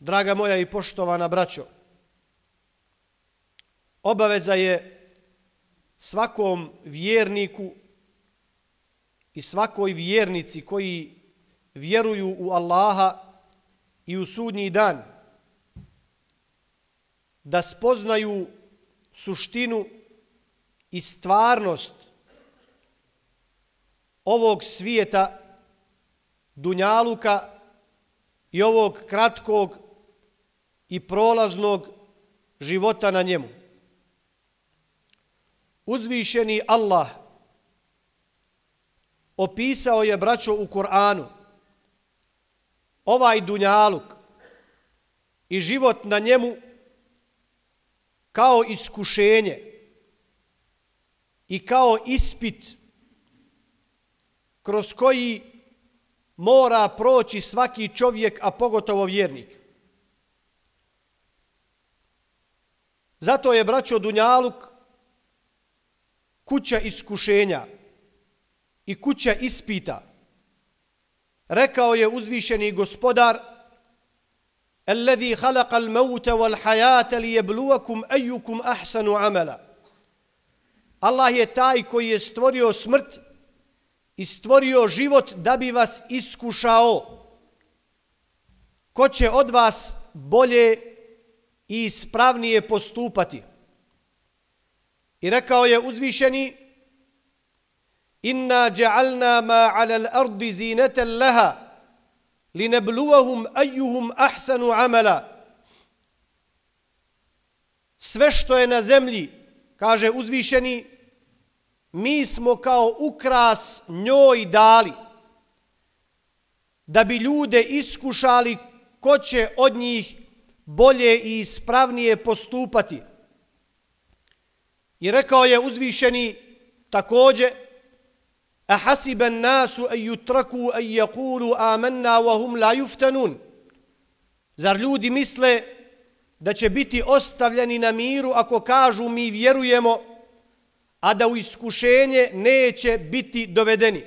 Draga moja i poštovana braćo, obaveza je svakom vjerniku i svakoj vjernici koji vjeruju u Allaha i u sudnji dan da spoznaju suštinu i stvarnost ovog svijeta, dunjaluka i ovog kratkog i prolaznog života na njemu. Uzvišeni Allah opisao je, braćo, u Kur'anu ovaj dunjaluk i život na njemu kao iskušenje i kao ispit kroz koji mora proći svaki čovjek, a pogotovo vjernik. Zato je, braćo, dunjaluk kuća iskušenja i kuća ispita. Rekao je uzvišeni Gospodar: "Alladhi khalaqal mauta wal hayata liyabluwakum ayyukum ahsanu amala." Allah je taj koji je stvorio smrt i stvorio život da bi vas iskušao ko će od vas bolje i ispravnije postupati. I rekao je uzvišeni: "Inna ja'alna ma 'ala al-ardi zinatan laha linabluwahum ayyuhum ahsanu amala." Sve što je na zemlji, kaže uzvišeni, mi smo kao ukras njoj dali da bi ljude iskušali ko će od njih bolje i ispravnije postupati. I rekao je uzvišeni također: "Ahasiba an-nasu an yutraku an yaqulu amanna wa hum la yuftanun." Zar ljudi misle da će biti ostavljeni na miru ako kažu mi vjerujemo, a da u iskušenje neće biti dovedeni?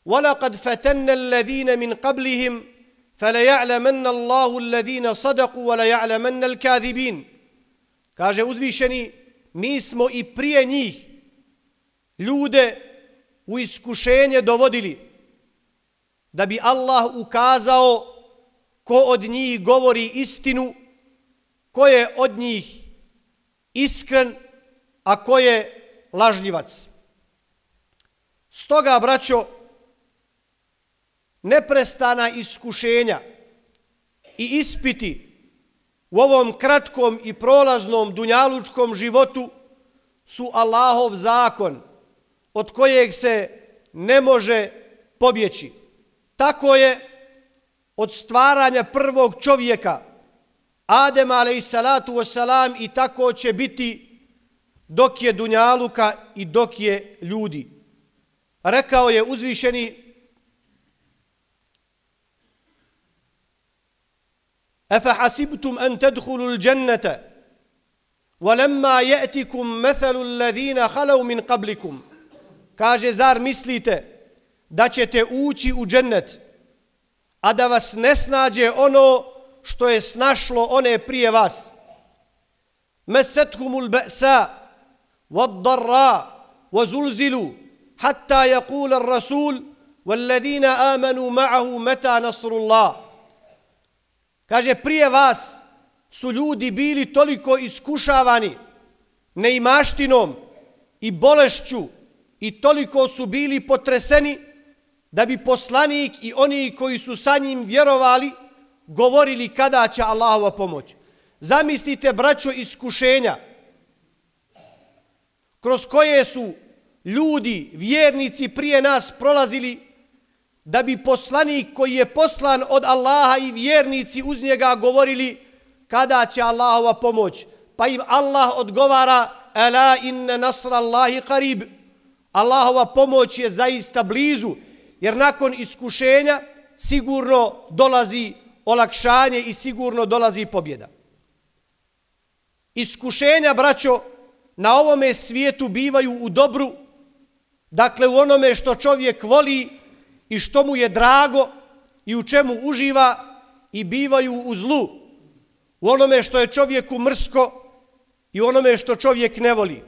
وَلَقَدْ فَتَنَّ الَّذِينَ مِنْ قَبْلِهِمْ فَلَيَعْلَمَنَّ اللَّهُ الَّذِينَ صَدَقُوا وَلَيَعْلَمَنَّ الْكَاذِبِينَ. Kaže uzvišeni, mi smo i prije njih ljude u iskušenje dovodili da bi Allah ukazao ko od njih govori istinu, ko je od njih iskren, a ko je lažljivac. Stoga, braćo, neprestana iskušenja i ispiti u ovom kratkom i prolaznom dunjalučkom životu su Allahov zakon od kojeg se ne može pobjeći. Tako je od stvaranja prvog čovjeka, Adema alejselatu vesselam, i tako će biti dok je dunjaluka i dok je ljudi. Rekao je uzvišeni: "Afahasibtum an tadkhulul jannata walamma ya'tikum mathalul ladina khalu min qablikum." Kaže, zar mislite da ćete ući u džennet, a da vas ne snađe ono što je snašlo one prije vas? Masathumul ba'sa wad-dharra wazulzilu hatta yaqula ar-rasul walladhina amanu ma'ahu mata nasrullah. Kaže, prije vas su ljudi bili toliko iskušavani neimaštinom i bolešću i toliko su bili potreseni da bi poslanik i oni koji su sa njim vjerovali govorili kada će Allahova pomoć. Zamislite, braćo, iskušenja kroz koje su ljudi, vjernici prije nas prolazili da bi poslanik koji je poslan od Allaha i vjernici uz njega govorili kada će Allahova pomoć. Pa im Allah odgovara: "Ala inna nasrallahi qarib." Allahova pomoć je zaista blizu, jer nakon iskušenja sigurno dolazi olakšanje i sigurno dolazi pobjeda. Iskušenja, braćo, na ovome svijetu bivaju u dobru, dakle u onome što čovjek voli i što mu je drago i u čemu uživa, i bivaju u zlu, u onome što je čovjeku mrsko i u onome što čovjek ne voli.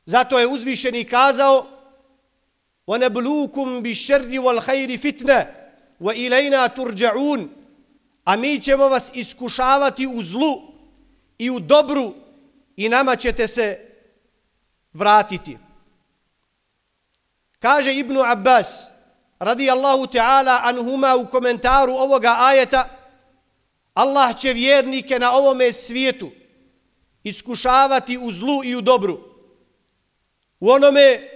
Zato je uzvišeni kazao: وَنَبْلُوكُمْ بِالشَّرِّ وَالْخَيْرِ فِتْنَةً وَإِلَيْنَا تُرْجَعُونَ. A mi ćemo vas iskušavati u zlu i u dobru i nama ćete se vratiti. Kaže Ibn Abbas radijallahu ta'ala anhuma u komentaru ovoga ajeta: Allah će vjernike na ovome svijetu iskušavati u zlu i u dobru, u onome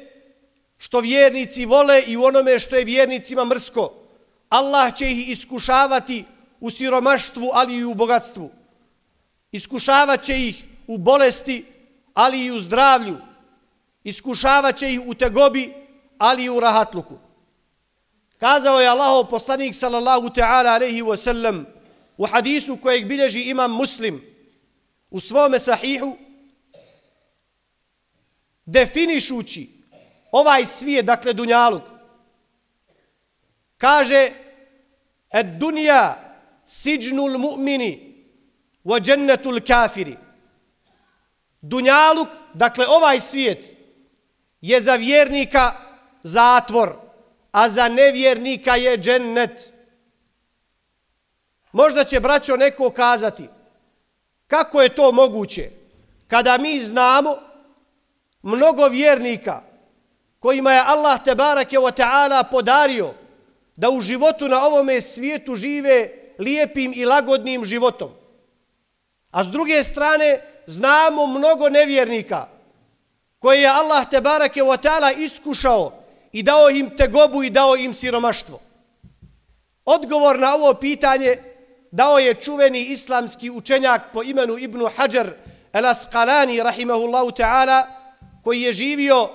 što vjernici vole i u onome što je vjernicima mrsko. Allah će ih iskušavati u siromaštvu, ali i u bogatstvu. Iskušavat će ih u bolesti, ali i u zdravlju. Iskušavat će ih u tegobi, ali i u rahatluku. Kazao je Allahov poslanik sallallahu ta'ala alejhi ve sellem u hadisu kojeg bilježi imam Muslim u svome sahihu, definišući ovaj svijet, dakle dunjaluk, kaže: "Ed dunja siđnul mu'mini wa džennetul kafiri." Dunjaluk, dakle ovaj svijet, je za vjernika zatvor, a za nevjernika je džennet. Možda će, braćo, neko kazati: kako je to moguće kada mi znamo mnogo vjernika kojima je Allah tebareke ve taala podario da u životu na ovome svijetu žive lijepim i lagodnim životom. A s druge strane znamo mnogo nevjernika koje je Allah tebareke ve taala iskušao i dao im tegobu i dao im siromaštvo. Odgovor na ovo pitanje dao je čuveni islamski učenjak po imenu Ibn Hajar el-Asqalani rahimahullahu ta'ala, koji je živio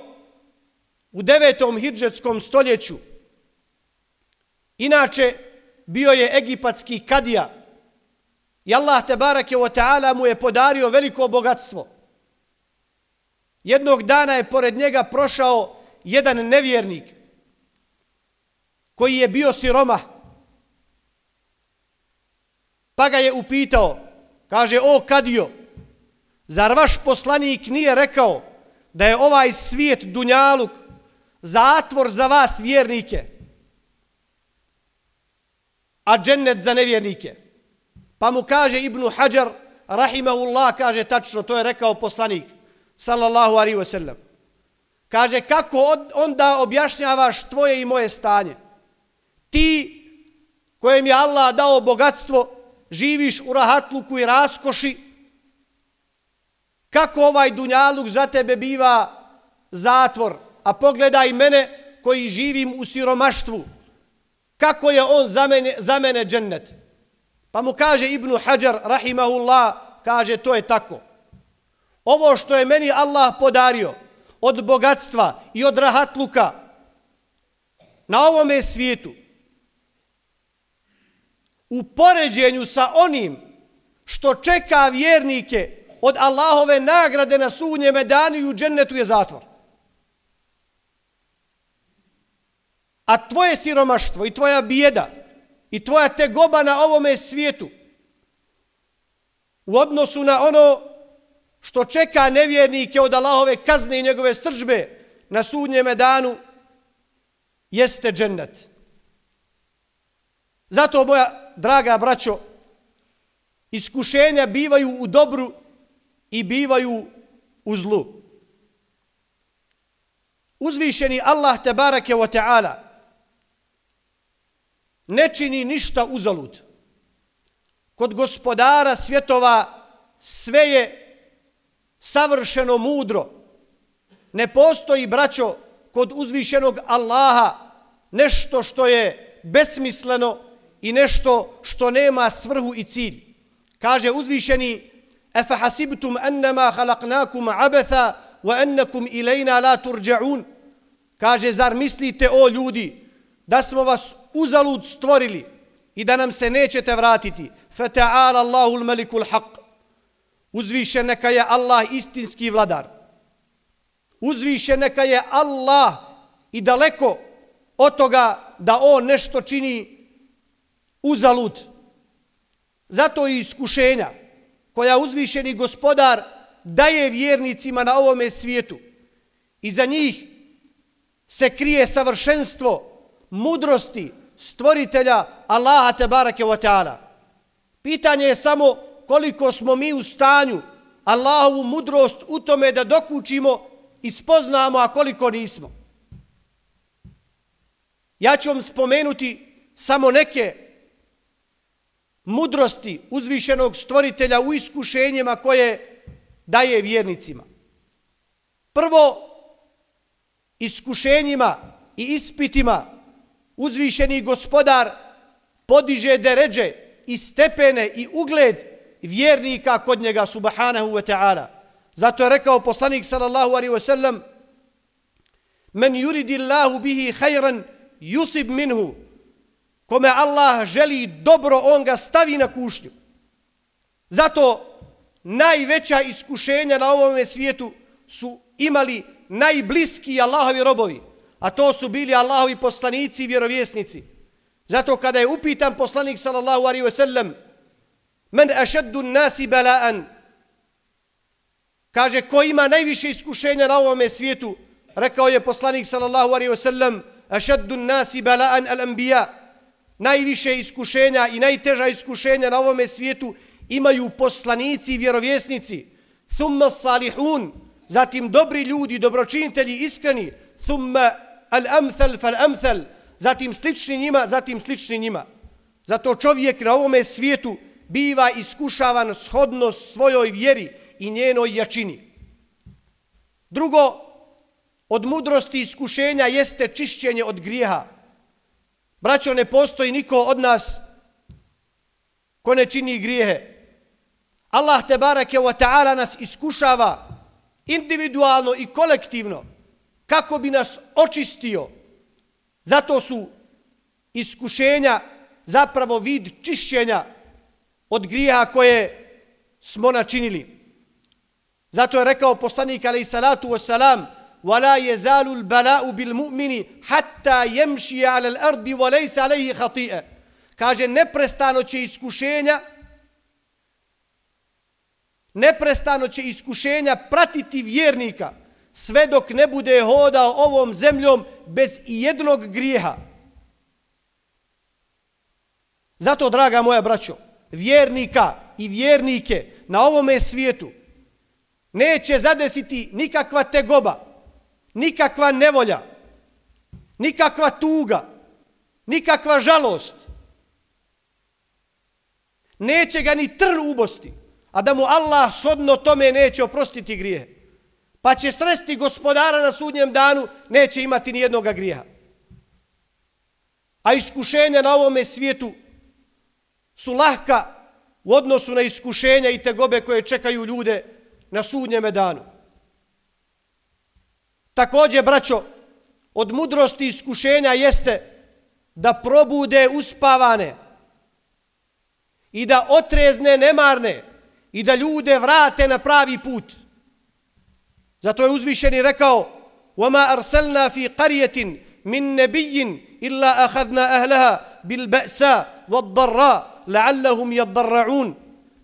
u 9. hidžetskom stoljeću. Inače, bio je egipatski kadija i Allah tebareke ve taala mu je podario veliko bogatstvo. Jednog dana je pored njega prošao jedan nevjernik koji je bio siromah, pa ga je upitao, kaže: "O kadijo, zar vaš poslanik nije rekao da je ovaj svijet dunjaluk zatvor za vas vjernike, a džennet za nevjernike?" Pa mu kaže Ibn Hajar rahimahullah, kaže: tačno, to je rekao poslanik sallallahu alejhi ve sellem. Kaže: kako onda objašnjavaš tvoje i moje stanje? Ti kojem je Allah dao bogatstvo, živiš u rahatluku i raskoši, kako ovaj dunjaluk za tebe biva zatvor? A pogledaj mene koji živim u siromaštvu, kako je on za mene džennet? Pa mu kaže Ibn Hajar rahimahullah, kaže: to je tako. Ovo što je meni Allah podario od bogatstva i od rahatluka na ovome svijetu, u poređenju sa onim što čeka vjernike od Allahove nagrade na sudnjem danu i u džennetu, je zatvor. A tvoje siromaštvo i tvoja bijeda i tvoja tegoba na ovome svijetu u odnosu na ono što čeka nevjernike od Allahove kazne i njegove srdžbe na sudnjem danu, jeste džennet. Zato, moja draga braćo, iskušenja bivaju u dobru i bivaju u zlu. Uzvišeni Allah tebareke ve taala ne čini ništa uzalud. Kod gospodara svjetova sve je savršeno mudro. Ne postoji, braćo, kod uzvišenog Allaha nešto što je besmisleno i nešto što nema svrhu i cilj. Kaže uzvišeni: "Afa hasibtum annama khalaqnakum abatha wa annakum ilayna la turja'un." Kaže: zar mislite, o ljudi, da smo vas uzalud stvorili i da nam se nećete vratiti? Fata'ala Allahul malikul haq. Uzvišen neka je Allah istinski vladar. Uzvišen neka je Allah i daleko od toga da on nešto čini uzalud. Zato i iskušenja koja uzvišeni Gospodar daje vjernicima na ovome svijetu, iza njih se krije savršenstvo mudrosti stvoritelja Allaha tebareke ve taala. Pitanje je samo koliko smo mi u stanju Allahovu mudrost u tome da dokučimo i spoznamo, a koliko nismo. Ja ću vam spomenuti samo neke mudrosti uzvišenog stvoritelja u iskušenjima koje daje vjernicima. Prvo, iskušenjima i ispitima uzvišeni Gospodar podiže deređe i stepene i ugled vjernika kod njega subhanahu wa ta'ala. Zato je rekao poslanik sallallahu alaihi wa sallam: men yuridillahu bihi khayran yusib minhu. Kome Allah želi dobro, on ga stavi na kušnju. Zato najveća iskušenja na ovome svijetu su imali najbliskiji Allahovi robovi, a to su bili Allahovi poslanici i vjerovjesnici. Zato kada je upitan poslanik sallallahu alaihi wa sallam: men ašaddu nasi bala'an, kaže ko ima najviše iskušenja na ovome svijetu, rekao je poslanik sallallahu alaihi wa sallam: ašaddu nasi bala'an al-anbiya. Najviše iskušenja i najteža iskušenja na ovome svijetu imaju poslanici i vjerovjesnici. Thumma salihun, zatim dobri ljudi, dobročinitelji, iskreni. Thumma al-amthal fal-amthal, zatim slični njima, zatim slični njima. Zato čovjek na ovome svijetu biva iskušavan shodno svojoj vjeri i njenoj jačini. Drugo, od mudrosti iskušenja jeste čišćenje od grijeha. Braćo, ne postoji niko od nas ko ne čini grijehe. Allah tebareke ve taala nas iskušava individualno i kolektivno kako bi nas očistio. Zato su iskušenja zapravo vid čišćenja od grijeha koje smo načinili. Zato je rekao poslanik alejhi salatu vesselam: وَلَا يَزَالُ الْبَلَاءُ بِالْمُؤْمِنِ حَتَّى يَمْشِيَ عَلَى الْأَرْضِ وَلَيْسَ عَلَيْهِ خَطِيئَ. Kaže, neprestano će iskušenja pratiti vjernika sve dok ne bude hodao ovom zemljom bez ijednog grijeha. Zato, draga moja braćo, vjernika i vjernike na ovome svijetu neće zadesiti nikakva tegoba, nikakva nevolja, nikakva tuga, nikakva žalost. Neće ga ni trn ubosti, a da mu Allah shodno tome neće oprostiti grijehe. Pa će sresti Gospodara na sudnjem danu, neće imati ni jednog grijeha. A iskušenja na ovome svijetu su lahka u odnosu na iskušenja i tegobe koje čekaju ljude na sudnjem danu. Također, braćo, od mudrosti iskušenja jeste da probude uspavane i da otrezne nemarne i da ljude vrate na pravi put. Zato je uzvišeni rekao: وَمَا أَرْسَلْنَا فِي قَرْيَةٍ مِنْ نَبِيٍّ إِلَّا أَخَذْنَا أَهْلَهَا بِالْبَأْسَاءِ وَالضَّرَّاءِ لَعَلَّهُمْ يَضَّرَّعُونَ.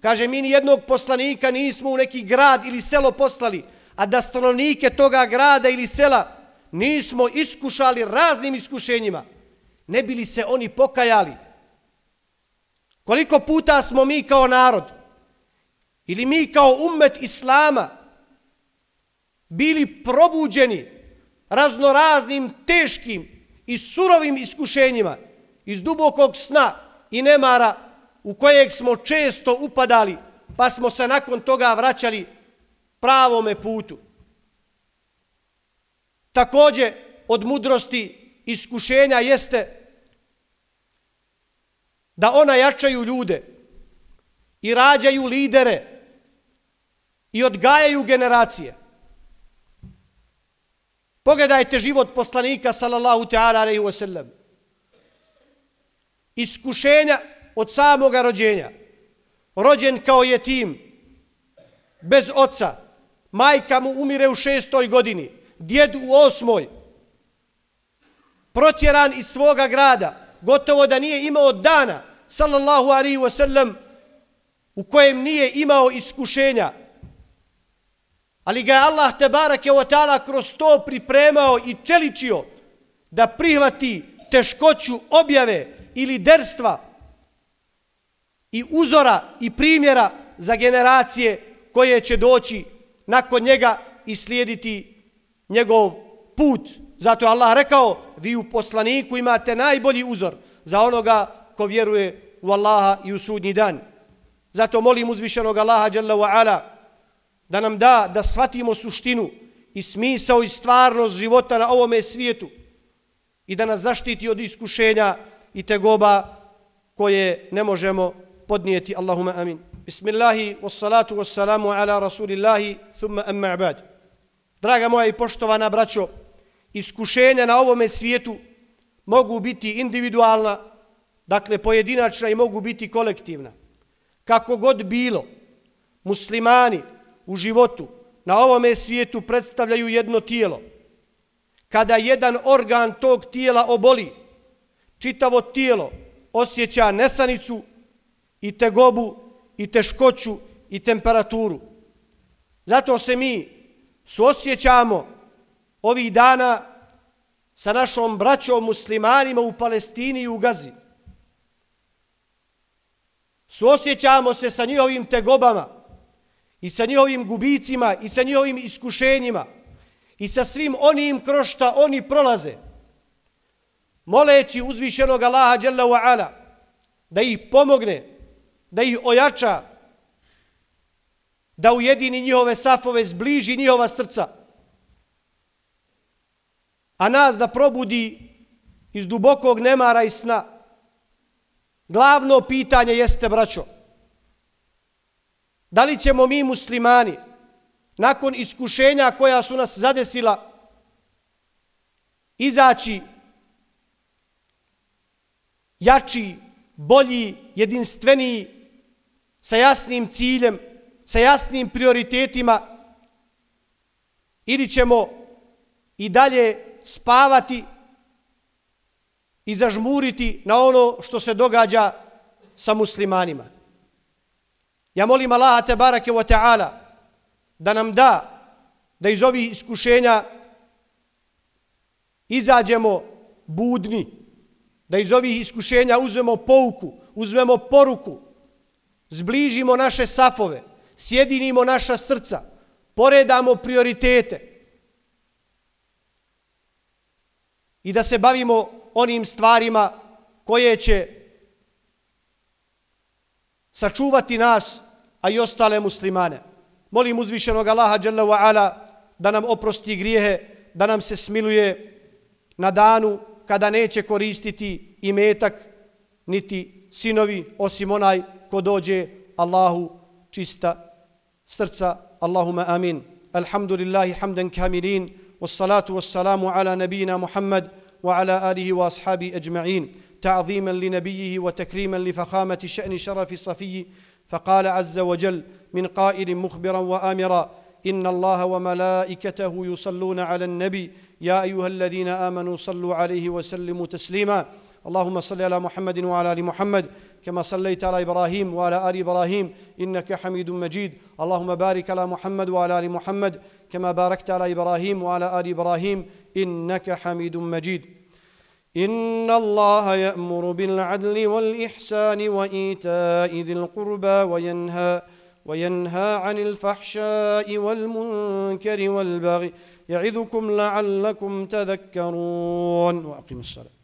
Kaže, mi ni jednog poslanika nismo u neki grad ili selo poslali, a da stanovnike toga grada ili sela nismo iskušali raznim iskušenjima, ne bi li se oni pokajali. Koliko puta smo mi kao narod ili mi kao ummet Islama bili probuđeni raznoraznim teškim i surovim iskušenjima iz dubokog sna i nemara u kojeg smo često upadali, pa smo se nakon toga vraćali pravome putu. Također, od mudrosti iskušenja jeste da ona jačaju ljude i rađaju lidere i odgajaju generacije. Pogledajte život poslanika sallallahu ta'ala alaihi wa sallam. Iskušenja od samoga rođenja. Rođen kao jetim, bez oca. Majka mu umire u 6. godini, djed u 8. Protjeran iz svoga grada, gotovo da nije imao dana, sallallahu alaihi wa sallam, u kojem nije imao iskušenja, ali ga je Allah tebareke ve taala kroz to pripremao i čeličio da prihvati teškoću objave ili derstva i uzora i primjera za generacije koje će doći nakon njega i slijediti njegov put. Zato je Allah rekao, vi u poslaniku imate najbolji uzor za onoga ko vjeruje u Allaha i u sudnji dan. Zato molim uzvišenog Allaha dželle ve ala da nam da shvatimo suštinu i smisao i stvarnost života na ovome svijetu i da nas zaštiti od iskušenja i tegoba koje ne možemo podnijeti. Allahumma amin. Bismillahi wassalatu wassalamu ala rasulillahi thumma amma ba'd. Draga moja i poštovana braćo, iskušenja na ovome svijetu mogu biti individualna, dakle pojedinačna, i mogu biti kolektivna. Kako god bilo, muslimani u životu na ovome svijetu predstavljaju jedno tijelo. Kada jedan organ tog tijela oboli, čitavo tijelo osjeća nesanicu i tegobu i teškoću i temperaturu. Zato se mi suosjećamo ovih dana sa našom braćom muslimanima u Palestini i u Gazi. Suosjećamo se sa njihovim tegobama i sa njihovim gubicima i sa njihovim iskušenjima i sa svim onim kroz šta oni prolaze, moleći uzvišenog Allaha dželle ve ala da ih pomogne, da ih ojača, da ujedini njihove safove, zbliži njihova srca, a nas da probudi iz dubokog nemara i sna. Glavno pitanje jeste, braćo, da li ćemo mi muslimani nakon iskušenja koja su nas zadesila izaći jači, bolji, jedinstveniji, sa jasnim ciljem, sa jasnim prioritetima, ili ćemo i dalje spavati i zažmuriti na ono što se događa sa muslimanima. Ja molim Allaha tebareke ve taala da nam da iz ovih iskušenja izađemo budni, da iz ovih iskušenja uzmemo pouku, uzmemo poruku, zbližimo naše safove, sjedinimo naša srca, poredamo prioritete i da se bavimo onim stvarima koje će sačuvati nas, a i ostale muslimane. Molim uzvišenog Allaha dželle ve ala da nam oprosti grijehe, da nam se smiluje na danu kada neće koristiti imetak niti sinovi, osim onaj ko dođe Allahu čista srca. Allahumma amin. Alhamdulillahi hamdan kamilin, wassalatu wassalamu ala nabijina Muhammad wa ala alihi wa ashabi ajma'in, تعظيما لنبيه وتكريما لفخامة شأن شرف صفيه. فقال عز وجل من قائل مخبرا وآمرا إن الله وملائكته يصلون على النبي يا أيها الذين آمنوا صلوا عليه وسلموا تسليما. اللهم صل على محمد وعلى آل محمد كما صليت على إبراهيم وعلى آل إبراهيم إنك حميد مجيد. اللهم بارك على محمد وعلى آل محمد كما باركت على إبراهيم وعلى آل إبراهيم إنك حميد مجيد. إن الله يأمر بالعدل والإحسان وإيتاء ذي القربى وينهى عن الفحشاء والمنكر والبغي يعظكم لعلكم تذكرون. وأقيموا الصلاة.